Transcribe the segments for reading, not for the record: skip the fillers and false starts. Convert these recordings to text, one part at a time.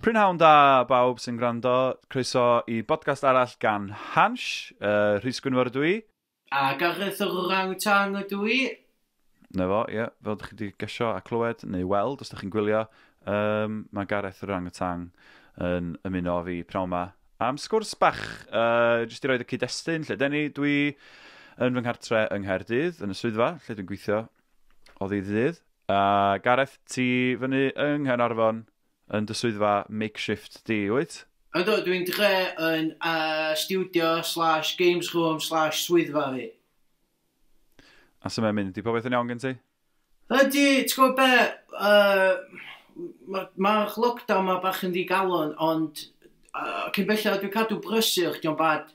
Prynhawn da bawb sy'n gwrando, croeso i bodcast arall gan Hansh, Rhys Gwynfor ydw i. A Gareth yr Orang-Tang ydw i. Na fo, ie, fel ydych chi wedi gesio a clywed neu weld os ydych chi'n gwylio, mae Gareth yr Orang-Tang yn ymuno â fi pnawn 'ma am sgwrs bach, jyst i roed y cyd-destun lle deni, dwi yn fy nghartre yng Nghaerdydd, yn y swyddfa, lle dwi'n gweithio o ddydd i ddydd. A Gareth, ti fyny yng Nghaernarfon yn dy swyddfa makeshift di, wyt? Ydw, dwi'n dre yn studio/games room/swyddfa fi. A sut mae'n mynd? Di popeth yn iawn gen ti? Ydy, ti'n gwybod be, mae'r ma lockdown ma bach yn ddigalon, ond cyn belled dwi'n cadw brysur, dio'n bad.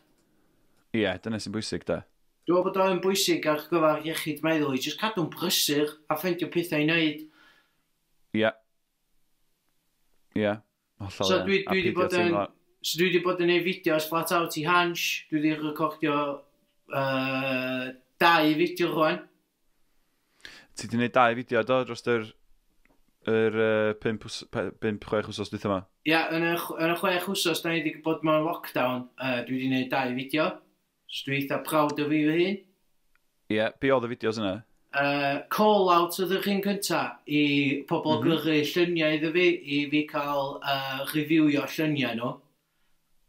Ie, yeah, dyna sy'n bwysig, da. Dwi'n meddwl bod o'n bwysig ar gyfer iechyd meddwl i jyst cadw'n brysur a ffeindio pethau i wneud. Ie. Ie, hollol. So dwi wedi bod yn... So dwi wedi bod yn neud fideos flat out i Hansh. Dwi wedi recordio dau fideo rwan. Ti wedi gwneud dau fideo, do, dros yr 5, 6 wsos dwytha yma? Ia, yeah, yn y 6 wsos da ni wedi bod mewn lockdown, dwi wedi gwneud dau fideo. So dwi eitha proud o fi fy hun. Ie, yeah, be oedd y fideos yna? Call out oedd yr un cynta i pobl gyrru lluniau iddo fi, i fi cael reviewio lluniau nhw.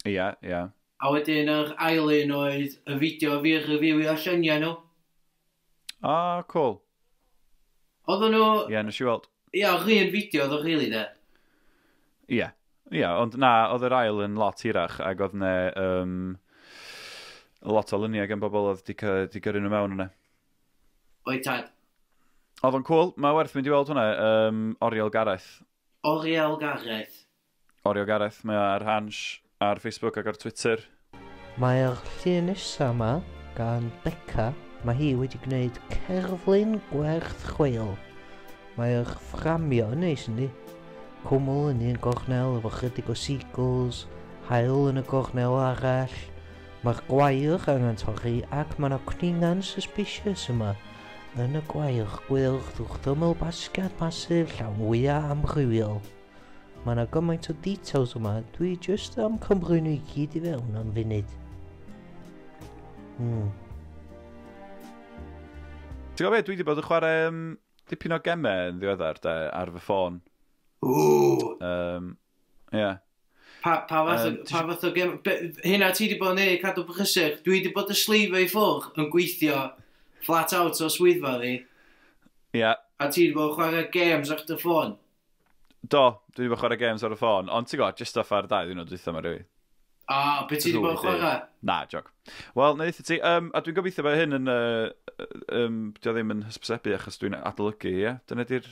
Ie, yeah, ie. Yeah. A wedyn yr ail un oedd y fideo fi reviewio lluniau nhw. Ah, cool. Oedden nhw. Ie, yeah, nes i weld. Ie, yeah, yr un fideo oedd o really, de. Ie, yeah, ond na, oedd yr ail yn lot hirach ac oedd ne lot o luniau gan bobl oedd di, di gyrru nhw mewn yna. Oedd tad. Oedd o'n cool, mae werth mynd i weld hwnna, Oriel Gareth. Oriel Gareth. Oriel Gareth, mae o ar Hansh, ar Facebook ac ar Twitter. Mae'r llun nesaf yma gan Beca, mae hi wedi gwneud cerflun gwerth chweil. Mae'r fframio yn neis, yndi? Cwmwl yn un gornel efo chydig o seagulls, haul yn y gornel arall. Mae'r gwair angen torri ac mae yna cwningan suspicious yma. Yn y gwair gwyrdd wrth ymyl basged masif llawn wyau amrywiol. Mae yna gymaint o details yma, dwi jyst am cymryd nhw i gyd i fewn am funud. Ti'n gwybod beth, dwi wedi bod yn chwarae dipyn o gemau yn ddiweddar, de, ar fy ffôn. Ww! Yeah. Pa fath, pa fath o gem? Hynna ti wedi bod yn neud, cadw brysur. Dwi wedi bod yn sleifio i ffwrdd yn gweithio flat out o swyddfa fi. A ti wedi bod yn chwarae games ar dy ffôn. Do, dwi wedi bod yn chwarae games ar y ffôn, ond ti'n gwybod, just off ar 2 ddiwrnod dwytha ma, rili. A, be ti wedi bod yn chwarae? Na, joc. Wel, na i ti, a dwi'n gobeithio bod hyn yn, dio ddim yn hysbysebu achos dwi'n adolygu, ie? Dyna di'r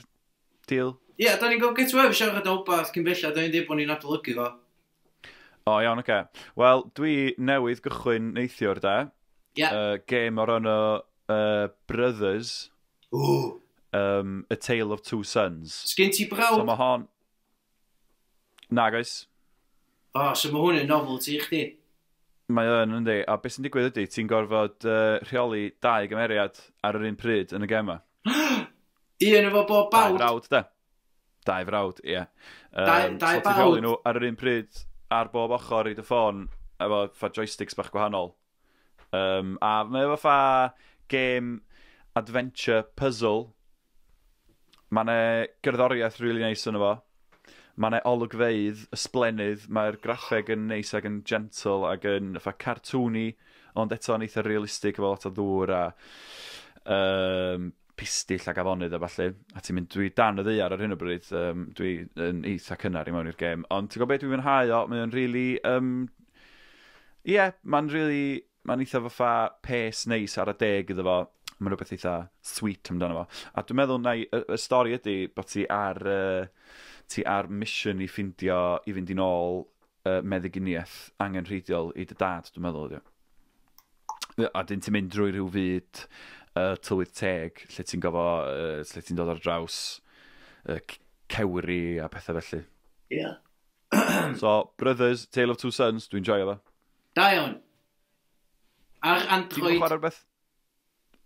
deal? Ie, yeah, da ni'n gwybod get away siarad o wbath cyn bellad, da ni'n dweud bod ni'n adolygu fo. O, iawn, oce. Okay. Wel, dwi newydd gychwyn neithiwr, da. Game o'r enw Brothers. Ww. A Tale of Two Sons. Sgyn ti brawd? So mae hon... Na, guys. O, oh, so mae hwn yn novelty i chdi. Mae yn, yndi. A beth sy'n digwydd ydy, ti'n gorfod rheoli dau gymeriad ar yr un pryd yn y gema. Un efo bob Dau bawd. frawd, de. Dau frawd, ie. Dau So ti'n rheoli bawd. nhw ar yr un pryd ar bob ochr i dy ffôn efo fa joysticks bach gwahanol. A mae efo fa game adventure puzzle. Mae 'na gerddoriaeth really nice yno fo. Mae 'na olygfeydd ysblennydd, mae'r graffeg yn neis ac yn gentle ac yn fatha cartoony, ond eto'n eitha realistig efo lot o ddŵr a pistill ac afonydd a ballu. A ti'n mynd, dwi dan y ddaear ar hyn o bryd, dwi yn eitha cynnar i mewn i'r gêm. Ond ti'n gwybod beth dwi'n mwynhau o, mae o'n really, yeah, mae'n really, mae'n eitha fatha pace neis ar y deg iddo fo. Mae'n rhywbeth eitha sweet amdano fo. A dwi'n meddwl na y stori ydy bod ti ar mission i ffindio, i fynd i nôl meddyginiaeth angenrheidiol i dy dad, dwi'n meddwl ydy o. A dyn ti'n mynd drwy rhyw fyd tylwyth teg, lle ti'n gofo, lle ti'n dod ar draws cewri a pethau felly. So, Brothers, Tale of Two Sons, dwi'n joio fo. Da iawn. Ar Ti'n Android. chwarae rhywbeth?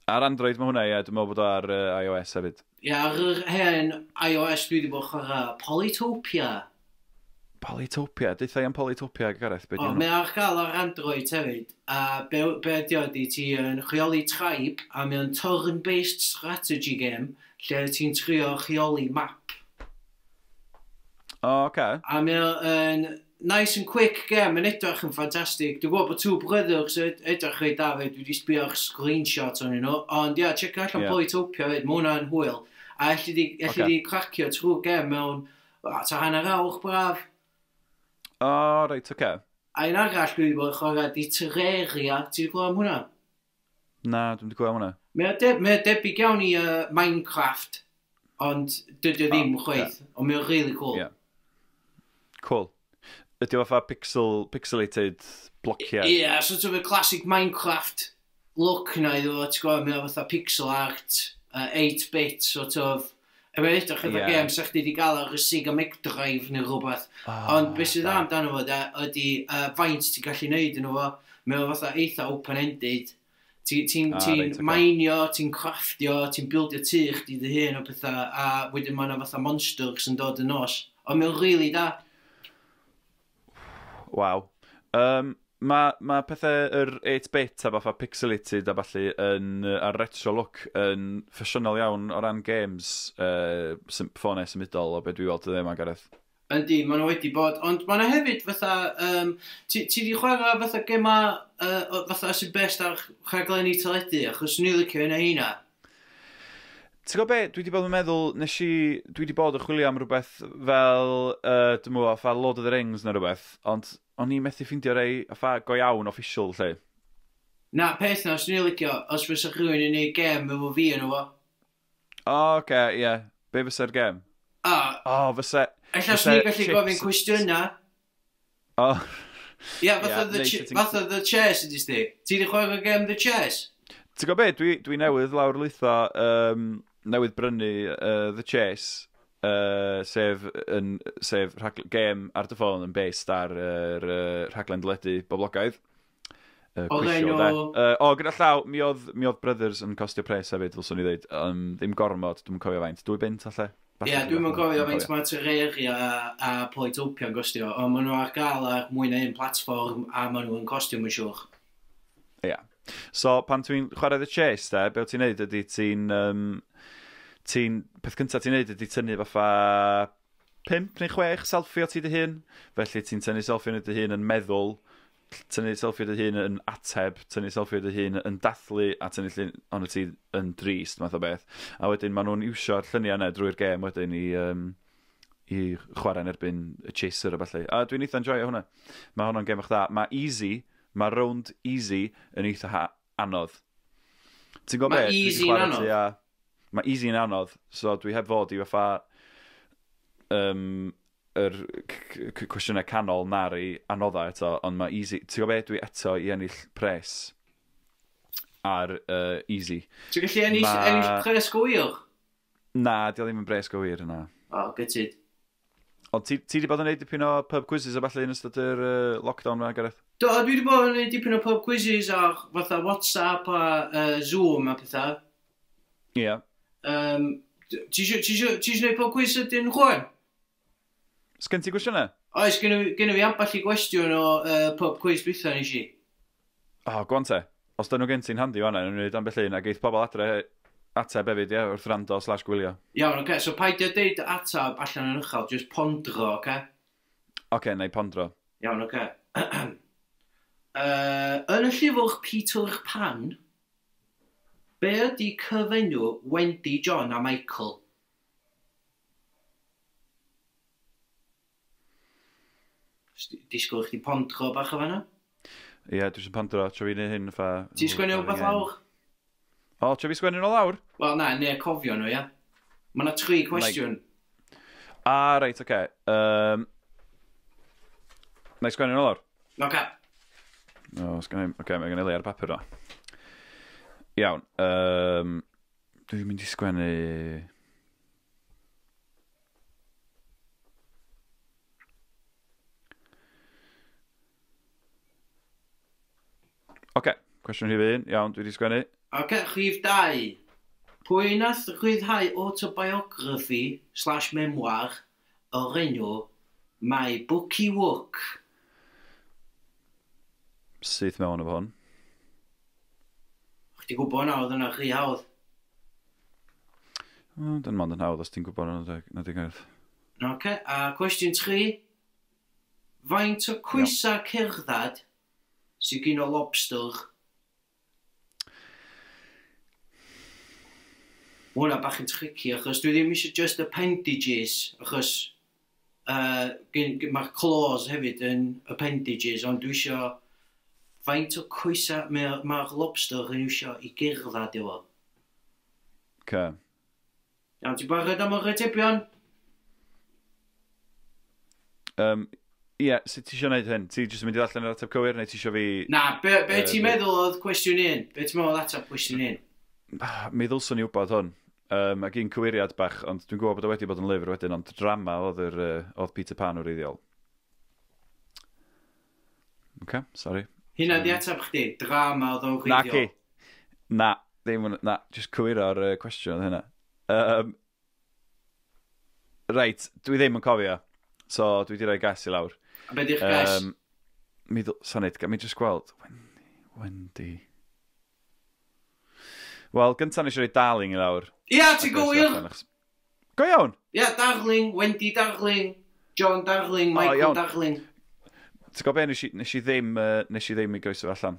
Ar Android mae hwnna, ie. Dwi'n meddwl bod o ar iOS hefyd. Ie, ar yr hen iOS dwi wedi bod yn chwarae Polytopia. Polytopia? Deutha i am Polytopia, Gareth, be di O, mae ar gael ar Android hefyd, a be ydi o ydi, ti yn rheoli tribe, a mae o'n turn-based strategy game, lle ti'n trio rheoli map. O, oh, oce. A mae o'n nice and quick game, yn edrych yn ffantastig. Dwi'n gwybod bod Two Brothers edrych reit da fyd, dwi wedi sbio ar screenshot o'n nhw, ond ia, check allan yeah. Polytopia fyd, mae hwnna'n hwyl. A elli di, elli okay. di cracio trwy game mewn, ta hanner awr braf. O, oh, reit, oce. Okay. A un arall dwi wedi bod yn chwarae di Terraria, ti wedi clywed am hwnna? Na, dwi'n wedi clywed am hwnna. Mae o debyg iawn i Minecraft, ond dydy o ddim oh, chwaith, yeah. Ond mae o'n really cool. Yeah. Cool. Ydy o fatha pixelated blociau? Ie, yeah, sort of a classic Minecraft look na iddo fo, ti'n gwybod, mae o fatha pixel art, 8-bit sort of. E mae'n edrych efo yeah. Game sa chdi wedi gael ar y Sega Mega Drive neu rhywbeth. Oh, ond beth sydd dda amdano fo, de, ydy faint ti'n gallu neud yn fo. Mae o fatha eitha open-ended. Ti'n ti, ti right, okay. mainio, ti'n crafftio, ti'n buildio tŷ chdi dy hun o pethau, a wedyn mae yna fatha monsters yn dod yn nos. Ond mae'n really da. Waw. Mae pethau yr 8-bit a fatha pixelated a ballu yn, a'r retro look yn ffasiynol iawn o ran games ffonau symudol o be dwi weld dyddiau yma, Gareth. Yndi, maen nhw wedi bod, ond maen nhw hefyd fatha, ti di chwarae fatha gema fatha sy'n best ar rhaglenni teledu, achos swn i'n licio hynna heina. Ti'n gwybod be, dwi wedi bod yn meddwl, dwi wedi bod yn chwilio am rhywbeth fel, dwi'n meddwl, fatha Lord of the Rings neu rhywbeth, ond o'n i methu ffeindio rei, fatha go iawn official, lle. Na, peth na, swn i'n licio, os fysa rhywun yn neud gem efo fi yn efo. O, oce, ie. Be fysa'r gem? A. O, fysa... Ella swn i'n gallu gofyn cwestiynau. O. Ie, fatha The Chase ydy sti. Ti wedi chwarae gem The Chase? Ti'n gwybod be, dwi newydd lawr lwytho, newydd brynu The Chase, sef gêm ar dy ffôn yn based ar yr rhaglen deledu boblogaidd. O'r enw... O, gyda llaw, mi oedd Brothers yn costio pres hefyd, ddylswn i ddweud. Ddim gormod, dwi'm yn cofio faint. 2 bunt, alle? Ie, dwi'm yn cofio faint mae Terraria a Polytopia yn costio, ond maen nhw ar gael ar mwy na un platfform a maen nhw yn costio, mae'n siŵr. Ie. Yeah. So, pan ti'n chwarae The Chase, de, be wyt ti'n neud ydy ti'n... peth cyntaf ti'n neud ydy tynnu fatha 5 neu 6 selfie o ti dy hun. Felly ti'n tynnu selfie o dy hun yn meddwl, tynnu selfie o dy hun yn ateb, tynnu selfie o dy hun yn dathlu, a tynnu llun ond ti yn drist, math o beth. A wedyn maen nhw'n iwsio'r lluniau yna drwy'r gêm wedyn i chwarae yn erbyn y Chaser a ballu. A dwi'n eitha enjoyo hwnna. Mae hwnna'n gêm bach dda. Mae easy, mae round easy yn eitha anodd. Ti'n gwybod be? Mae easy yn anodd? Mae easy yn anodd, so dwi heb fod i fatha yr cwestiynau canol na'r i anoddau eto, ond mae easy... Ti'n gwybod be? Dwi eto i ennill pres ar easy. Ti'n gallu ennill pres go wir? Na, di o ddim yn bres go wir yna. O, gytid. Ond ti wedi bod yn gwneud dipyn o pub quizzes a falle yn ystod yr lockdown yma, Gareth? Do, dwi wedi bod yn gwneud dipyn o pub quizzes ar fatha WhatsApp a Zoom a pethau. Ie. Yeah. Ti isio gwneud pub quiz ydyn rwan? Sgen ti gwestiynau? Oes, gen i fi ambell i gwestiwn o pub quiz dwytha nes i. O, go on te. Os dyn nhw gen ti'n handi fan'na, nhw'n gwneud ambell un, a geith pobl adre ateb hefyd, ie, wrth rando / gwylio. Iawn, oce, so paid â deud ateb allan yn uchel, just pondro, oce? Oce, na i pondro. Iawn, oce. Yn y llyfr Peter Pan, be ydy cyfenw Wendy, John a Michael? Disgwyl chdi pondro bach o fan'na? Ie, dwi eisiau pondro, tro fi neud hyn fa... Ti'n sgwennu rhywbeth lawr? O, tro fi sgwennu nhw lawr? Wel, na, neu cofio nhw, ia. Mae yna 3 cwestiwn. A, reit, oce. Na i sgwennu nhw lawr? Oce. O, sgwennu... Oce, mae gen i le ar papur o. Iawn. Dwi'n mynd i sgwennu... Oce, cwestiwn rhif 1. Iawn, dwi wedi sgwennu. Oce, rhif 2. Pwy nath rhyddhau autobiography / memoir o'r enw My Bookie Wook. Syth mewn efo hwn. Chdi gwybod na oedd yna rhy hawdd. O, dyn mond yn hawdd os ti'n gwybod na di gael. Oce, a cwestiwn 3. Faint o cwysa cerddad sydd gen o lobster? Mae hwnna bach yn tricky, achos dwi ddim eisiau just appendages, achos mae'r claws hefyd yn appendages, ond dwi eisiau faint o coesa mae'r ma lobster yn iwsio i gerdded efo. Ce. Iawn, ti'n barod am yr atebion? Ie, yeah, sut ti eisiau gwneud hyn? Ti jyst yn mynd i ddarllen yr ateb cywir, neu ti eisiau fi... Na, be ti'n meddwl oedd cwestiwn un? Be ti'n meddwl oedd ateb cwestiwn un? Mi ddylswn i wybod hwn. Ac un cywiriad bach, ond dwi'n gwybod bod o wedi bod yn lyfr wedyn, ond drama oedd, oedd Peter Pan wreiddiol. OK, sorry. Hynna di ateb chdi, drama oedd o'n wreiddiol. Na ci. Na, ddim, na, just cywiro'r cwestiwn oedd hynna. Reit, dwi ddim yn cofio. So, dwi wedi rhoi gas i lawr. A be di'ch gas? Mi sanid, mi just gweld. Wendy. Wel, gyntaf nes i roi Darling i lawr. Ia, ti'n gywir! Go iawn? Ia, Darling, Wendy Darling, John Darling, Michael Darling. Ti'n gwybod be, nes i ddim i groeso allan.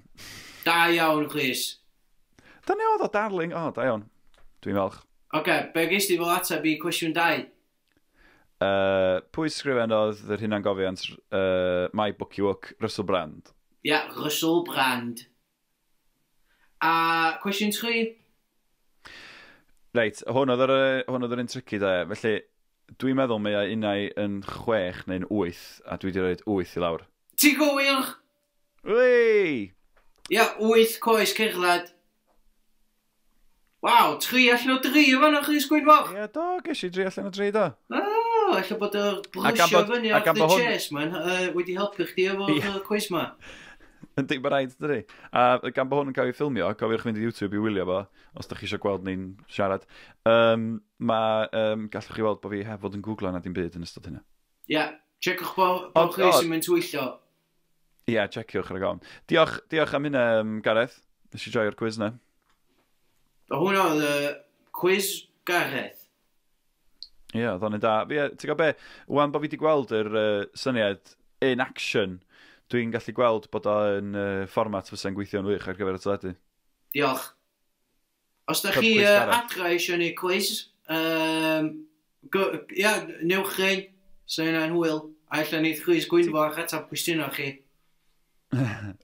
Da iawn, Chris. Dyna oedd o, Darling. O, da iawn. Dwi'n falch. Oce, be gest ti fel ateb i cwestiwn 2? Pwy sgrifennodd yr hunangofiant My Bookie Wook, Russell Brand? Ia, yeah, Russell Brand. A cwestiwn 3? Reit, hwn oedd yr un tricky da. Felly, dwi'n meddwl mae o unai yn 6 neu'n 8, a dwi wedi rhoi 8 i lawr. Ti'n gywir? Wei! Ia, 8 coes cerdded. Waw, 3 allan o 3 o fan'na, Rhys Gwynfor. Ie, do, ges i 3 allan o 3, do. O, ella bod y brysio fyny off the chest, man, wedi helpu chdi efo'r cwis ma. Yndi, mae rhaid, dydi. A gan bod hwn yn cael ei ffilmio, cofiwch fynd i YouTube i wylio fo, os da chi eisiau gweld ni'n siarad. Gallwch chi weld bod fi heb fod yn googlo na dim byd yn ystod hynna. Ie, yeah, checiwch bod chi sy'n mynd twyllo. Ie, yeah, checiwch ar y gofn. Diolch am hynna, Gareth. Nes i joio'r quiz na. O, hwnna oedd y quiz Gareth. Ie, yeah, oedd o'n da. Ti'n gwybod be, wan bod fi wedi gweld yr syniad in action, dwi'n gallu gweld bod o'n fformat fysa'n gweithio'n wych ar gyfer y teledu. Diolch. Os da chi adra eisiau neud quiz, ia, newch chi, so hynna'n hwyl. A ella neith Rhys Gwynfor a'ch ateb cwestiynau chi.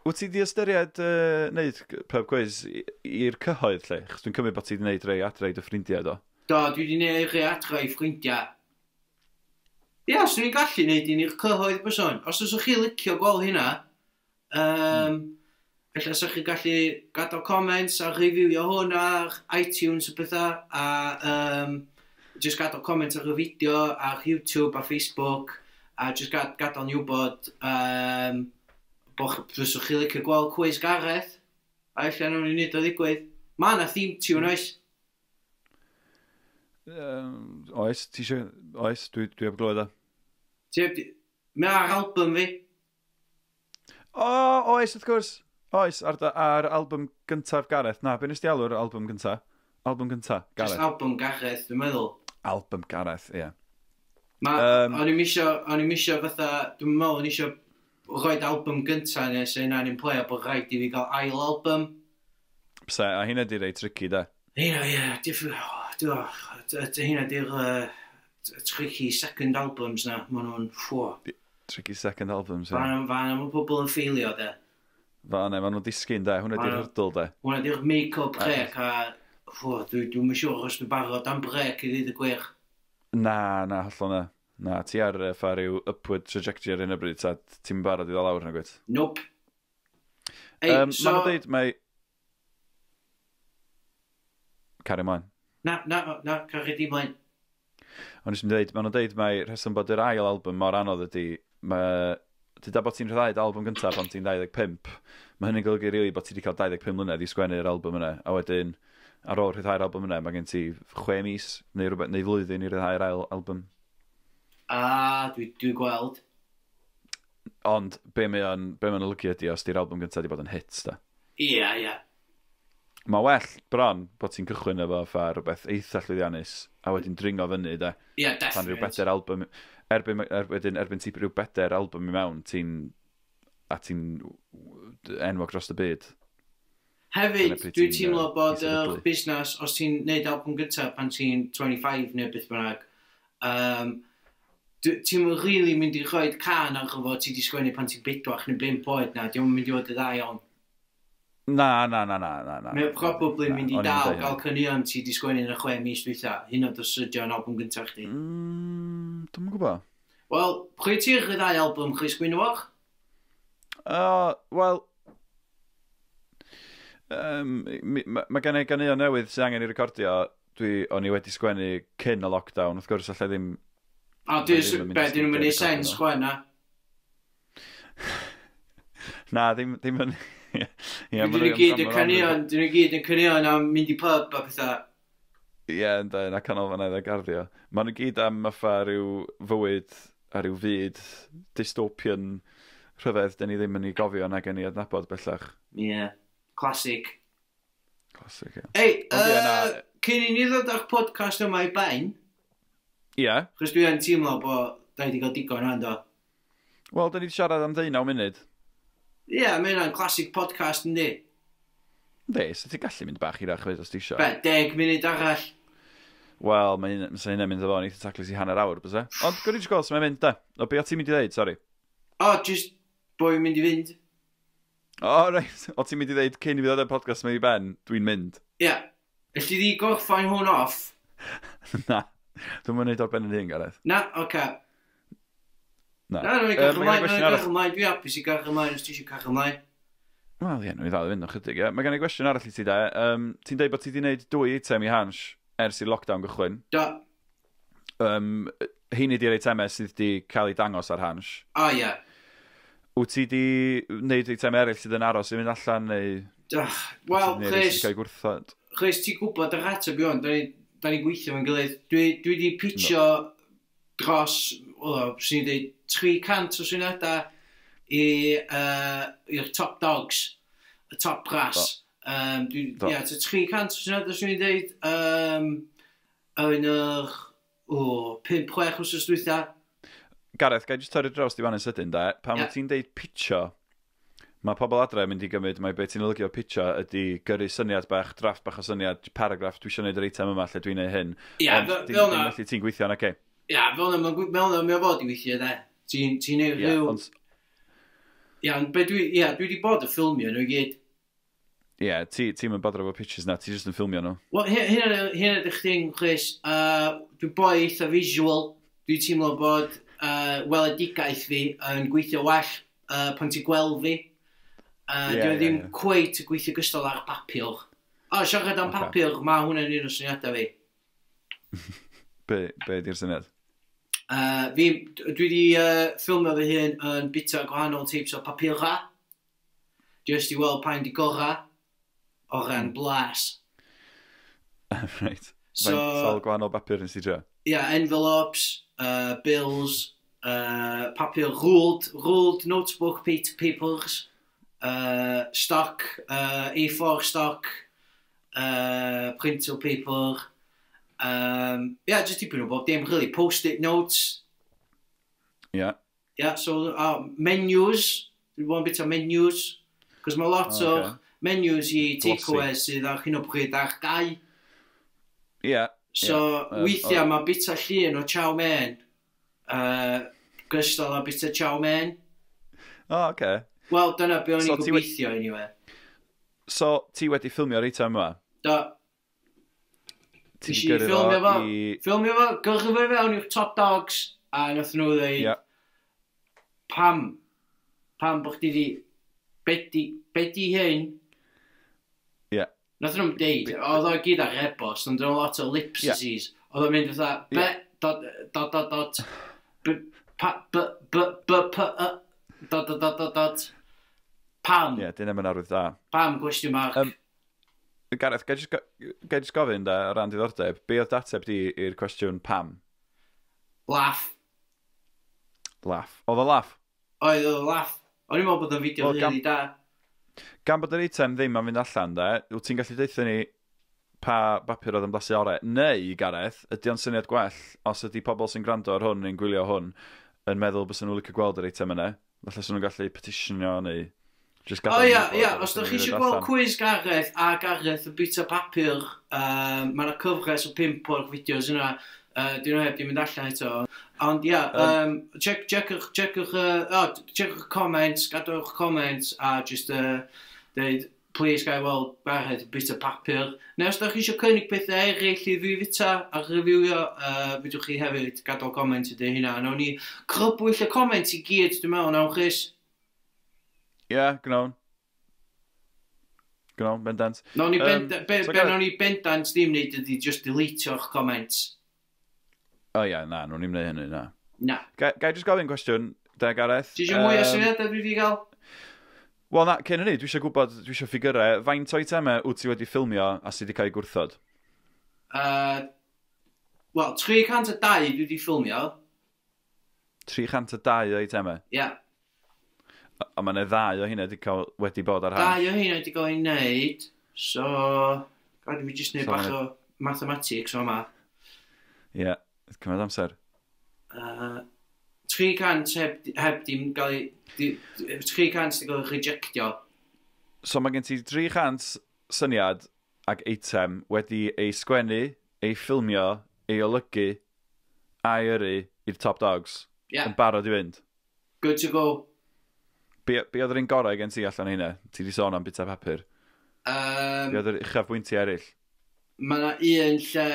Wyt ti di ystyried neud pub quiz i'r cyhoedd lle? Chos dwi'n cymryd bod ti di neud rei adra i dy ffrindiau, do? Do, dwi di neud rei adra i ffrindiau. Ia, swn i'n gallu neud un i'r cyhoedd byson. Os oes chi licio gweld hynna, ella sa'ch chi gallu gadael comments a reviewio hwn ar iTunes a pethau, a just gadael comments ar y fideo, ar YouTube a Facebook, a just gadael ni wybod bod fyswch chi licio gweld quiz Gareth, a ella nawn ni neud o ddigwydd. Ma' na theme tune, oes? Oes, ti eisiau... Oes, dwi heb glywed o. Mae ar album fi. O, oes, wrth gwrs. Oes, ar album gyntaf Gareth. Na, be nes di alw'r album gyntaf? Album gyntaf, Gareth. Just album Gareth, dwi'n meddwl. Album Gareth, ie. Yeah. O'n i'm isio fatha... Dwi'n meddwl o'n isio rhoid album gyntaf nes yna'n un play a bod rhaid i fi gael ail album. Pse, a hynna di rei tricky, da. Hynna, ie. Hynna di'r tricky second albums na, maen nhw'n ffwo. Tricky second albums, ie. Fan mae pobl yn ffeilio, de. Fan maen nhw'n disgyn, de. Hwna di'r hurdle, de. Hwna di'r make-up break, a ffwo, dwi'n siŵr os dwi'n barod am break i ddweud y gwir. Na, hollol na. Na, ti ar ffa ryw upward trajectory ar hyn o bryd, ta ti'n barod i ddod lawr na gwyt? Nope. Ei, so... Maen nhw'n dweud, mae... Carry ymlaen. Na, carry di mlaen. Ond nes i'n dweud, maen nhw'n dweud mai rheswm bod yr ail album mor anodd ydy, mae... Dyda bod ti'n rhyddhau'r album gyntaf pan ti'n 25, mae hynny'n golygu rili bod ti wedi cael 25 mlynedd i sgwennu'r album yna, a wedyn ar ôl rhyddhau'r album yna, mae gen ti 6 mis neu rhywbeth, neu flwyddyn i rhyddhau'r ail album. A, dwi gweld. Ond be mae'n olygu ydi os di'r album gyntaf di bod yn hit, da. Ie, ie. Mae well bron bod ti'n cychwyn efo fatha rhywbeth eitha llwyddiannus a wedyn dringo fyny, da. Ie, yeah, Pan rhyw definite. bedair album, erbyn ti rhyw bedair album i mewn, ti'n enwog dros y byd. Hefyd, Dyna pryd dwi'n ti'n, teimlo bod i yr sefydlu. busnes, os ti'n neud album gyntaf pan ti'n 25 neu beth bynnag, ti'n really mynd i rhoi cân ar fo ti di sgwennu pan ti'n 4 neu 5 oed na, diolch yn mynd i fod y dda iawn. Na, na, na, na, na, na. Mae o probably Na, mynd i o'n i'n dal deud gael caneuon ti di sgwennu yn y 6 mis dwytha, hyn oed os ydi o'n album gyntaf chdi. Dwi'm yn gwybod. Wel, pryd ti'n rhyddhau album Chris Gwynfor? Wel, mae gen i ganeuon newydd sydd angen i recordio. O'n i wedi sgwennu cyn y lockdown, wrth gwrs allai ddim. A Mae ddim yn mynd be, i dyn nhw'n stiwdio mynd i recordio sens nhw. chwe na? Na, ddim yn. Ie, Dyn ma' nhw gyd yn ma' caneuon, dyn nhw gyd yn caneuon am mynd i pub a pethau. Ie, ynddo, na canolfannau a garddio. Maen nhw gyd am fatha rhyw fywyd a rhyw fyd dystopian rhyfedd dyn ni ddim yn ei gofio nag yn ei adnabod bellach. Ie, yeah. Classic. Classic, ie. Ei, Ond ie, na. cyn i ni ddod â'r podcast yma i ben, Ie. chos dwi yn teimlo bod da ni wedi cael digon rhan do. Wel, dyn ni wedi siarad am 19 munud. Ie, yeah, mae hynna'n classic podcast yndi. Yndi, so ti'n gallu mynd bach hirach fyd os ti isio. Be, 10 munud arall. Wel, mae hynna'n mynd efo yn eitha taclus i hanner awr, byse? Ond gwrdd i gweld sy'n mynd, da. O, be o ti'n mynd i ddeud, sori? O, just bo fi'n mynd i fynd. O, reit. O ti'n mynd i ddeud cyn i fi ddod â'r podcast yma i ben, dwi'n mynd. Ie. Yeah. Elli di gorffan hwn off? Na. Dwi'n mynd i wneud o'r ben yn hun, Gareth. Na, oce. Okay. Na. Na, na, ni Yy, gael mae gen i ymlaen, gwestiwn na, ni arall. gael ymlaen. Dwi'n hapus i gael ymlaen os ti eisiau cael ymlaen. Wel, ie, nhw i ddal i fynd o chydig, ie. Mae gen i gwestiwn arall i ti, de. Ti'n deud bod ti wedi gwneud 2 eitem i Hansh ers i lockdown gychwyn. Do. Heini di'r eitemau sydd wedi cael eu dangos ar Hansh. O, ie. Wyt ti wedi gwneud eitemau eraill sydd yn aros i fynd allan, neu Wel, neu rhai Chris, sydd wedi cael eu gwrthod? Chris, ti'n gwybod yr ateb i hwn, da ni'n gweithio fe'n gilydd. Dwi di pitio dros, o, swn i'n dweud, 300 o syniadau i'r top dogs, y top brass. Do. Ie, ta 300 o syniadau swn i'n dweud, yn yr, o, 5-6 wsos dwytha. Gareth, gai jyst torri draws di fan yn sydyn, de? Pan Ie. wyt ti'n deud pitio, mae pobl adre yn mynd i gymryd mai beth ti'n olygu o pitio ydy gyrru syniad bach, drafft bach o syniad, paragraff, dwi eisiau gwneud yr eitem yma lle dwi'n neud hyn. Ie, Ond fel dim na. felly ti'n gweithio, na ce? Ie, fel na, fel na, mae o fod i weithio, de. Ti'n neud Ie, rhyw. ond Ie, ond be dwi, ie, dwi wedi bod yn ffilmio nhw i gyd. ie, ti'n mynd bodro efo pitches na, ti jyst yn ffilmio nhw. Wel, hynna ydych chdi'n, Chris, dwi'n boi eitha visual. Dwi'n teimlo bod weledigaeth fi yn gweithio well pan ti'n gweld fi. Ie, Dwi ie, ddim ie. cweit yn gweithio gystal ar papur. O, siarad am Ocê. papur, mae hwnna'n un o syniadau fi. Be di'r syniad? Dwi wedi ffilmio fy hun yn bita gwahanol types o papura. Just i weld pa'n di gora o ran blas. Right. So, Faint sawl gwahanol bapur nes i drio? yeah, envelopes, bills, papur ruled notebook papers, stock, A4 stock, printer paper, yeah, just dipyn o bob dim, really, post-it notes, Ie. yeah, so menus, dwi'n bod yn bit o menus, cos mae lot O, o ocê. menus i Glossy. takeaways sydd ar hyn o bryd ar gau. Ie. So, Ie, weithiau mae bita llun o chow mein, gystal â bita chow mein. O, oce. Wel, dyna be o'n So i'n ti gobeithio, anyway. So, ti wedi ffilmio'r eitem yma? Do, Ti Nes 'di i gyrru ffilmio fo. i Ffilmio fo, gyrru fo i fewn i'r top dogs, a nath nhw ddeud, Ie. pam bo chdi di, be di hyn? Ie. Nath nhw'n deud, oedd o gyd ar e-bost, ond oedd lot o ellipses. Oedd o'n mynd fatha, be, dot, dot, dot, dot, b, pa, b, b, b, p, y, dot, dot, dot, dot, dot, pam, Ie, dyna mae'n arwydd da. pam, gwestiwn mark. Gareth, gai jyst gofyn da, o ran diddordeb, be oedd dateb di i'r cwestiwn pam? Laugh. Laff. Oedd o laff? Oedd, oedd o laff. O'n i'n meddwl bod o'n fideo well, really da. Gan bod yr eitem ddim am fynd allan, de, wyt ti'n gallu deutha ni pa bapur oedd yn blasu orau? Neu, Gareth, ydy o'n syniad gwell os ydy pobl sy'n gwrando ar hwn neu'n gwylio hwn yn meddwl bysa nhw'n licio gweld yr eitem yna? Falle sy'n nhw'n gallu petitionio neu just O ia, ia, os ydych chi eisiau gweld quiz Gareth a Gareth yn bita papur, mae yna cyfres o 5 o'r fideos yna, dyn nhw heb di mynd allan eto. Ond ia, check, checkwch, checkwch, oh, checkwch comments, gadwch comments a just deud, please gai weld Gareth yn bita papur. Neu os ydych chi eisiau cynnig pethau eraill i fi fita a reviewio, fedrwch chi hefyd gadael comment i dweud hynna. Nawn ni crybwyll y comments i gyd, dwi'n meddwl, nawn Chris. Ie, yeah, gnawn. Gnawn, bendant. Nawn ni be, so be nawn ni bendant ddim wneud ydy just deletio'ch comments. O ie, na, nhw'n ni'n gwneud hynny, na. Na. Ga i just gofyn cwestiwn, de, Gareth? Ti eisiau mwy o syniadau dwi wedi gael? Wel, na, cyn hynny, dwi eisiau gwybod, dwi eisiau ffigurau, faint o eitemau wyt ti wedi ffilmio a sydd wedi cael ei gwrthod? Wel, 302 dwi wedi ffilmio. 302 o eitemau? Ie. Yeah. A mae yna ddau o hynna wedi, cael, wedi bod ar hand. Dau o hynna wedi cael ei wneud, so... Gad i fi jyst wneud so, bach o mathematics o yma. Ie, yeah, cymryd amser. 300 heb dim gael ei... 300 wedi cael ei rejectio. So mae gen ti 300 syniad ac eitem wedi ei sgwennu, ei ffilmio, ei olygu, a'i yrru i'r top dogs. Yeah. Yn barod i fynd. Good to go. Be oedd yr un gorau gen ti allan hynna? Ti di sôn am bita papur. Be oedd yr uchafbwyntiau eraill? Mae yna un lle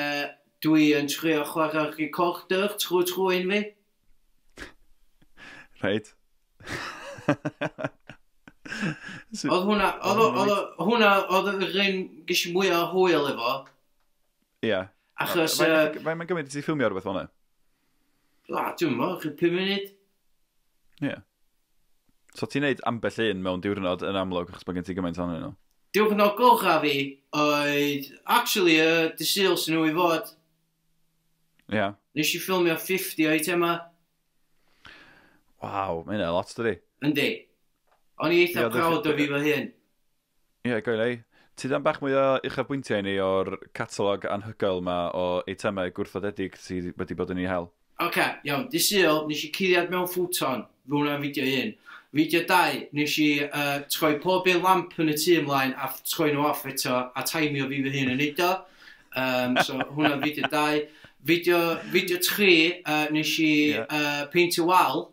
dwi yn trio chwarae'r recorder trwy trwyn fi. Reit. Oedd hwnna, oedd hwnna, oedd yr un ges i mwy o hwyl efo. Ie. Yeah. Achos... Faint mae'n gymryd i ti ffilmio rhywbeth fel hwnna? Dwi'n meddwl, 5 munud. Ie. Yeah. So ti'n neud ambell un mewn diwrnod yn amlwg, achos bod gen ti gymaint ohonyn nhw? Diwrnod gorau fi oedd, actually, dy Sul sy'n nhw i fod. Ie. Yeah. Nes i ffilmio 50 o eitemau. Waw, mae hynna lot, dydi? Yndi. O'n i eitha proud o fi fy hun. Ie, yeah, goel ei. Ti dan bach mwy o uchafbwyntiau ni o'r catalog anhygoel ma o eitemau gwrthodedig sydd wedi bod yn ei hel? Oce, okay, iawn. Dy Sul, nes i cuddiad mewn futon. Fy hwnna'n fideo un. Fideo 2, nes i troi pob un lamp yn y tŷ ymlaen a troi nhw off eto a taimio fi fy hun yn neud o. So hwnna'n fideo 2. Fideo 3, nes i peintio wal.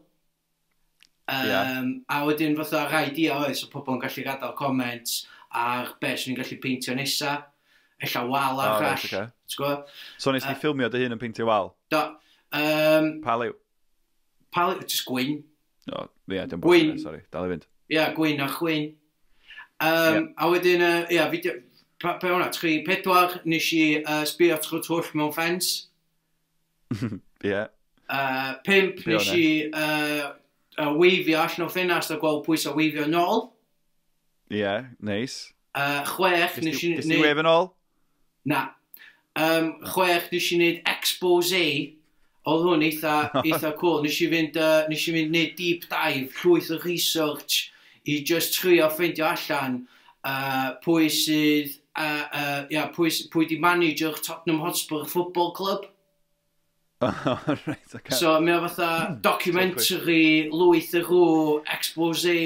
A wedyn fatha rhai idea oedd, so pobl yn gallu gadael comments ar be swn i'n gallu peintio nesa. Ella wal arall. Right, okay. So nes ti ffilmio dy hun yn peintio wal? Do. Pa liw? Pa liw? Just gwyn. O, ie, dim gwyn. Sorry, dal i fynd. Ie, yeah, gwyn a chwyn. A wedyn, ie, fideo, pe hwnna, 3, 4, nes i sbio trwy twll mewn ffens. Ie. 5, nes i weifio allan o ffenast a gweld pwy sy'n weifio nôl. Ie, yeah, nice. 6, nes i... Nes ti weifio nôl? Na. 6, nes i wneud expose. Oedd hwn eitha cool. Nes i fynd neud deep dive, llwyth o research i just trio ffeindio allan pwy sydd, pwy di manager Tottenham Hotspur Football Club. Right, okay. So mae o fatha documentary, lwyth y rŵ, expose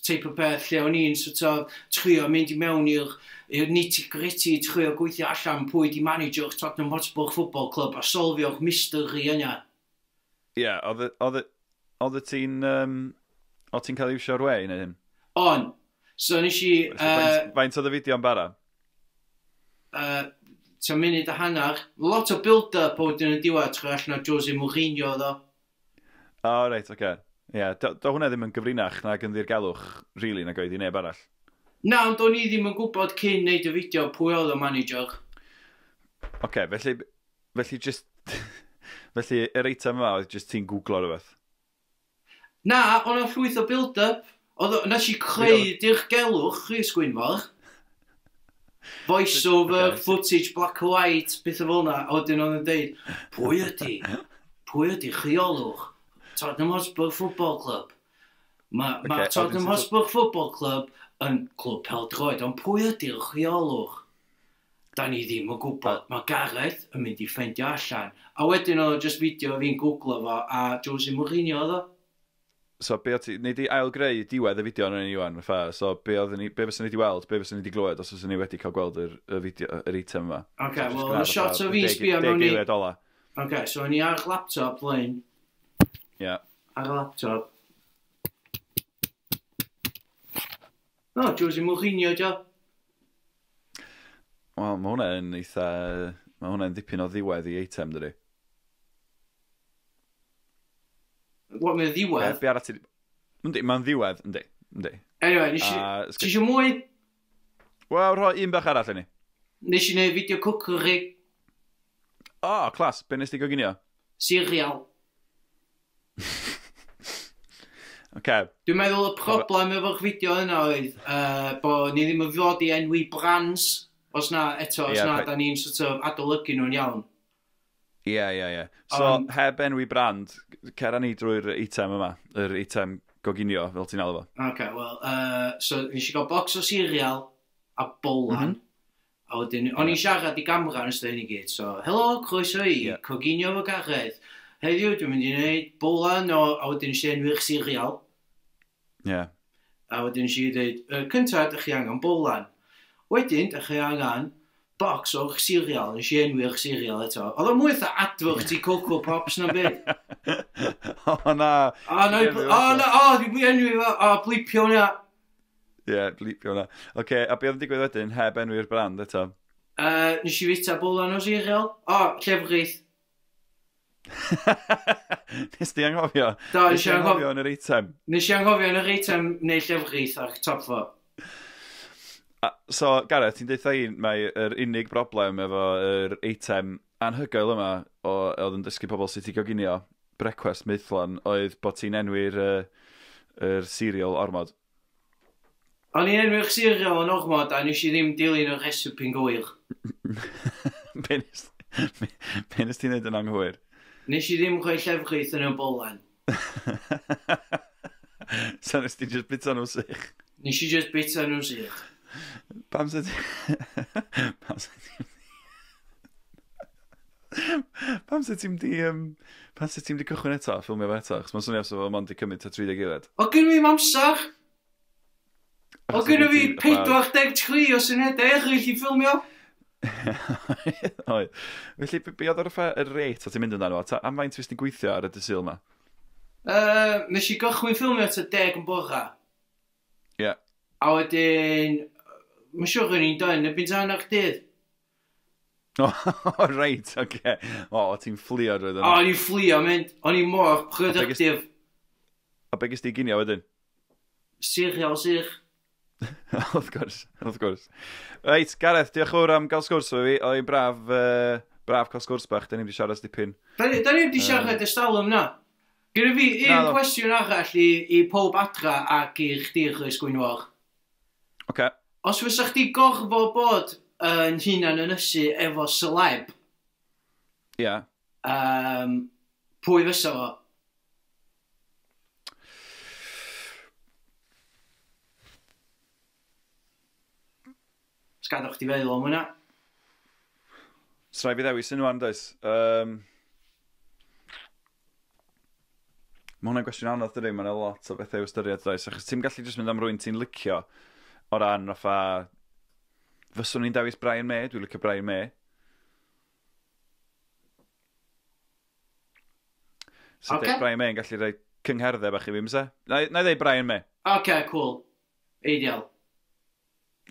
type o peth lle o'n i'n sort of trio mynd i mewn i'r nitty-gritty, trio gweithio allan pwy di manager Tottenham Hotspur Football Club a solfio'r mystery yna. Ie, yeah, oedd ti'n oedd ti'n cael iwsio'r we i wneud hyn? On. So nes i... Faint oedd y fideo yn bara? Tua munud a hanner. Lot o build-up o wedyn yn diwedd trwy allan o Jose Mourinho oedd o. O, reit, oce. Ie, do hwnna ddim yn gyfrinach nag yn ddirgelwch, really, nag oedd i neb arall. Na, ond o'n i ddim yn gwybod cyn neud y fideo pwy oedd y manager. Oce, felly just... Felly, yr eitem yma oedd just ti'n googlo rhywbeth? Na, o'n o'n llwyth o build-up. Nes i creu dirgelwch, Rhys Gwynfor. Voice-over, okay. Footage, black and white, beth o fel 'na. A wedyn oedd yn deud, pwy ydi rheolwch Tottenham Hotspur Football Club. Mae ma Tottenham Hotspur Football Club yn clwb pêl-droed, ond pwy ydy'r rheolwr? Da ni ddim yn gwybod. Mae Gareth yn mynd i ffeindio allan. A wedyn oedd o just fideo fi'n googlo fo, a Jose Mourinho oedd o. So, be o ti... Nei di ail-greu diwedd y fideo yn Iwan, fatha. So, be oedden ni... Be fyswn ni wedi weld, be fyswn ni wedi glywed os fyswn ni wedi cael gweld y fideo, yr eitem yma. Oce, so, wel, y shot o fi sbio mewn i... 10 eiliad ola. Oce, so o'n i ar laptop, Blaine. Ie. Yeah. Ar laptop. No, Jose Mourinho, dio. Wel, mae hwnna yn eitha... Mae hwnna'n ddipyn o ddiwedd i eitem, dydi? What, mae'n ddiwedd? Be arall ti... Yndi, mae'n ddiwedd, yndi. Yndi. Anyway, nes i... Ti eisiau mwy? Wel, rhoi un bach arall i ni. Nes i wneud fideo cwcri. O, oh, clas. Be nes ti goginio? Cereal. Okay. Dwi'n meddwl y problem efo'r fideo yna oedd bod ni ddim yn fod i enwi brands. Os na, eto, os na, da ni'n sort of adolygu nhw'n iawn. Ie. So, heb enwi brand, cera ni drwy'r eitem yma, yr eitem goginio, fel ti'n alw fo. Oce, wel, so nes i gael box o cereal a bowlan. A wedyn, o'n i'n siarad i gamera yn ystod hyn i gyd, so, helo, croeso i, coginio fo Gareth. Heddiw, dwi'n mynd i wneud bowlan o, a wedyn nes i enwi'r cereal. Ie. A wedyn nes i dweud, cynta, dych chi angen bowlan. Wedyn, dych chi angen box o'r cereal, nes i enwi'r cereal eto. Oedd o mwy fatha advert i Coco Pops na'n byd. O, na. O, na, o, na, o, dwi'n enwi fo, o, blipio hwnna. Ie, blipio hwnna. Oce, a be oedd yn digwydd wedyn, heb enwi'r brand eto? Nes i fita bowlan o cereal. O, llefrith. Nes di anghofio? Do, nes i anghofio yn yr eitem. Nes i anghofio yn yr eitem neu llefrith ar top fo. So, Gareth, ti'n deutha i, mae yr unig broblem efo yr eitem anhygoel yma o, oedd yn dysgu pobl sut i goginio brecwast maethlon oedd bod ti'n enwi'r yr cereal ormod. O'n i'n enwi'r cereal yn ormod a nes i ddim dilyn y recipe'n gywir. Be nes ti'n neud yn anghywir? Nes i ddim rhoi llefrith yn y bolan. So nes ti just bita nhw sych? Nes i just bita nhw sych. Pam sa ti... Pam sa ti'n di... Pam sa ti'n di cychwyn eto, ffilmio fo eto? Achos mae'n swnio sa fo mond di cymryd ta 30 eiliad. O, gynna fi'm amser! O, gynna fi 43 o syniadau eraill i ffilmio! Oedd. Felly, be oedd yr rate o ti'n mynd amdano fo? Am faint fes ti'n gweithio ar y dydd Sul yma? Nes i gychwyn ffilmio tua 10 yn bora. Ie. A wedyn, mae'n siŵr o'n i'n done erbyn tan ar dydd. O, reit, oce. O, ti'n fflio drwy O, o'n i'n fflio, mynd. O'n i'n mor productive. A be ges ti ginio wedyn? Cereal sych. Wrth gwrs, wrth gwrs. Reit, Gareth, diolch yn fawr am gael sgwrs efo fi. Oedd hi'n braf, braf cael sgwrs bach. Da ni'n wedi siarad dipyn. Da ni wedi siarad ers talwm na. Gyda fi un cwestiwn arall i pob adra ac i chdi, Chris Gwynfor. Oce. Os fysa chdi gorfod bod yn hunan ynysu efo celeb, Ie. Pwy fysa fo? Sgadwch chdi feddwl am hwnna. Srai fi ddewis un wan, does? Mae hwnna'n gwestiwn anodd, dydi? Mae'n lot o bethau i'w ystyried, does? Achos ti'n gallu jyst mynd am rywun ti'n licio o ran fatha... Fyswn i'n dewis Brian May, dwi'n licio Brian May. So okay. Brian May yn gallu rhoi cyngherddau bach i fi, mysa? Na i ddeud Brian May. Oce, cool. Ideal.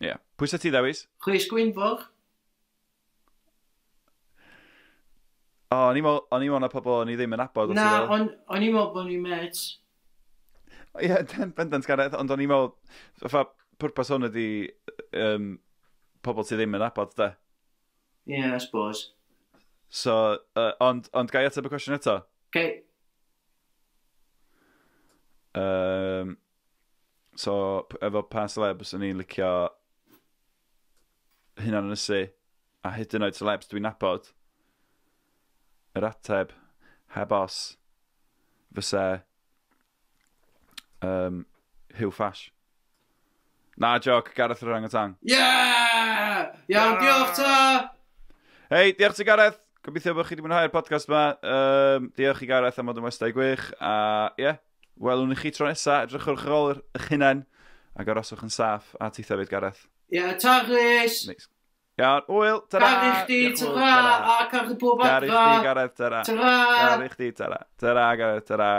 Ie. Yeah. Pwy sa ti ddewis? Chris Gwynfor. O, o'n i'n meddwl na pobl o'n i ddim yn nabod. Na, o'n i'n meddwl bod ni'n mates. Ie, bendant Gareth, ond o'n i'n meddwl, fatha, pwrpas hwn ydi pobl ti ddim yn nabod, de. Yeah, I suppose. So, ond ga i ateb y cwestiwn eto? Okay. So, efo pa celebs o'n i'n licio hunan ynysu, a hyd yn oed celebs dwi'n nabod, yr ateb, heb os, fysa Hugh Fash. Na, joc, Gareth yr Orangutan. Yeah! Iawn, diolch ta! Hei, diolch ti, Gareth. Gobeithio bod chi wedi mwynhau'r podcast yma. Diolch i Gareth am fod yn westai gwych. A ie, yeah, welwn i chi tro nesa. Edrychwch ar ôl eich hunain ac aroswch yn saff. A titha fyd, Gareth. Ie, yeah, ta Rhys! Neis. Iawn, hwyl, tara! Caru chdi, tara! A caru pob adra! Caru chdi, Gareth, tara! Tara! Caru chdi, tara! Tara, Gareth, tara!